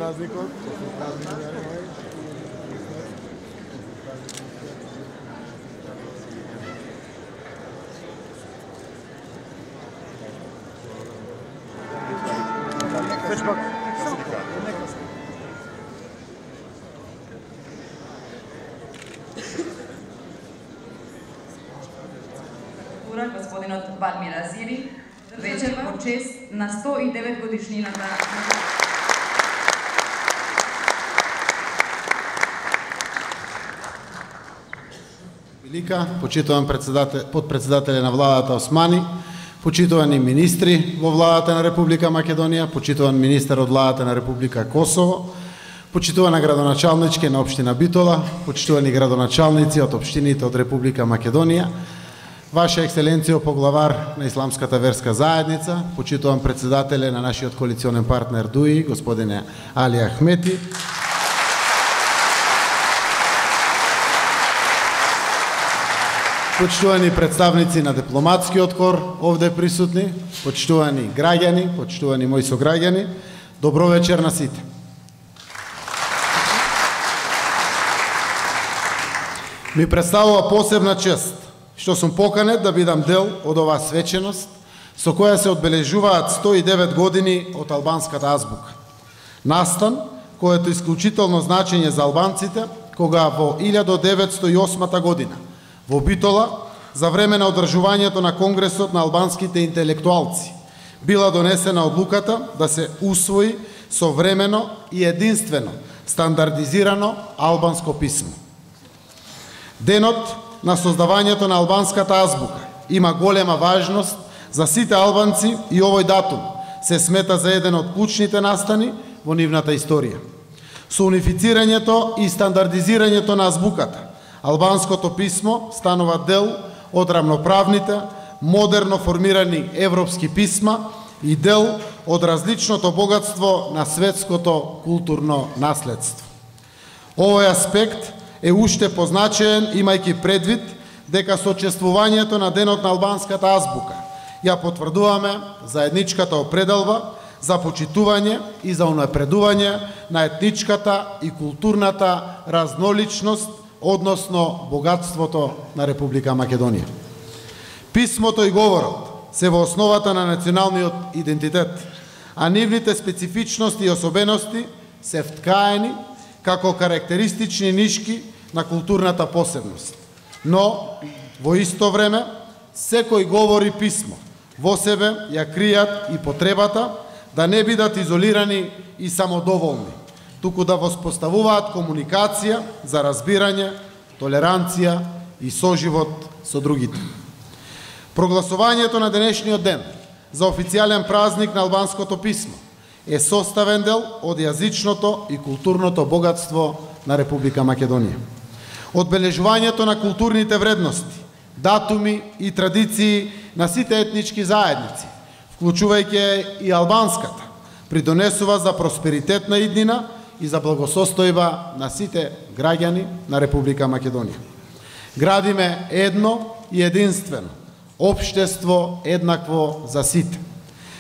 празникот. Господинот Валмир Азири, вечер во чест на 109 годишнината. Велика, почитуван подпредседателе на владата Османи, почитувани министри во владата на Република Македонија, почитуван министер од владата на Република Косово, почитувана градоначалничке на општина Битола, почитувани градоначалници од општините од Република Македонија, Ваша екселенцијо поглавар на Исламската верска заедница, почитуван председателе на нашиот коалиционен партнер ДУИ, господине Али Ахмети, почитувани представници на дипломатскиот кор овде присутни, почитувани граѓани, почитувани мои сограѓани, добро вечер на сите. Ми представува посебна чест што сум поканет да бидам дел од оваа свеченост со која се одбележуваат 109 години од албанската азбука. Настан којато е исклучително значење за албанците кога во 1908 година во Битола за време на одржувањето на Конгресот на албанските интелектуалци била донесена одлуката да се усвои современо и единствено стандардизирано албанско писмо. Денот на создавањето на албанската азбука има голема важност за сите албанци и овој датум се смета за еден од клучните настани во нивната историја. Со унифицирањето и стандардизирањето на азбуката, албанското писмо станува дел од рамноправните, модерно формирани европски писма и дел од различното богатство на светското културно наследство. Овој аспект е уште позначаен имајќи предвид дека со чествувањето на Денот на албанската азбука ја потврдуваме заедничката определба за почитување и за унапредување на етничката и културната разноличност, односно богатството на Република Македонија. Писмото и говорот се во основата на националниот идентитет, а нивните специфичности и особености се вткаени како карактеристични нишки на културната посебност. Но, во исто време, секој говор и писмо во себе ја кријат и потребата да не бидат изолирани и самодоволни, туку да воспоставуваат комуникација за разбирање, толеранција и соживот со другите. Прогласувањето на денешниот ден за официјален празник на албанското писмо е составен дел од јазичното и културното богатство на Република Македонија. Одбележувањето на културните вредности, датуми и традиции на сите етнички заедници, вклучувајќи и албанската, придонесува за просперитет на иднина и за благосостојба на сите граѓани на Република Македонија. Градиме едно и единствено општество еднакво за сите.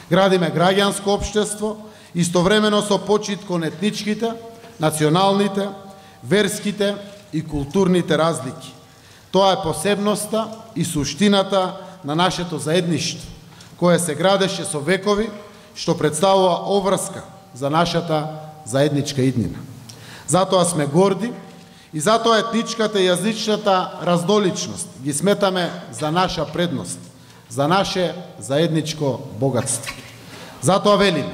Градиме граѓанско општество истовремено со почит кон етничките, националните, верските и културните разлики. Тоа е посебноста и суштината на нашето заедништво, кое се градеше со векови, што представува обврска за нашата заедничка иднина. Затоа сме горди и затоа етничката и јазичната разноличност ги сметаме за наша предност, за наше заедничко богатство. Затоа велиме,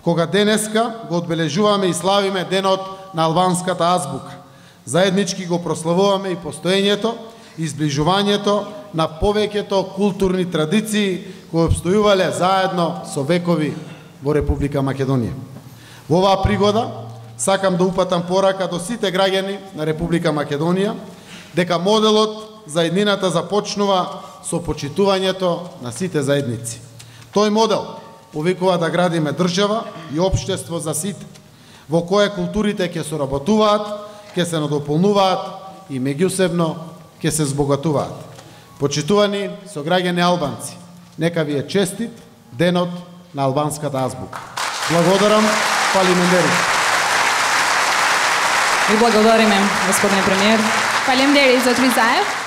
кога денеска го одбележуваме и славиме Денот на албанската азбука, заеднички го прославуваме и постоењето и зближувањето на повеќето културни традиции кои обстојувале заедно со векови во Република Македонија. Во оваа пригода сакам да упатам порака до сите граѓани на Република Македонија дека моделот за иднината започнува со почитувањето на сите заедници. Тој модел повикува да градиме држава и општество за сите, во кое културите ќе соработуваат, ќе се надополнуваат и меѓусебно ќе се збогатуваат. Почитувани сограѓани албанци, нека ви е честит Денот на албанската азбука. Благодарам, Фали Мендерис. Ви благодариме, господине премиер. Фалемдери, зот ви заев.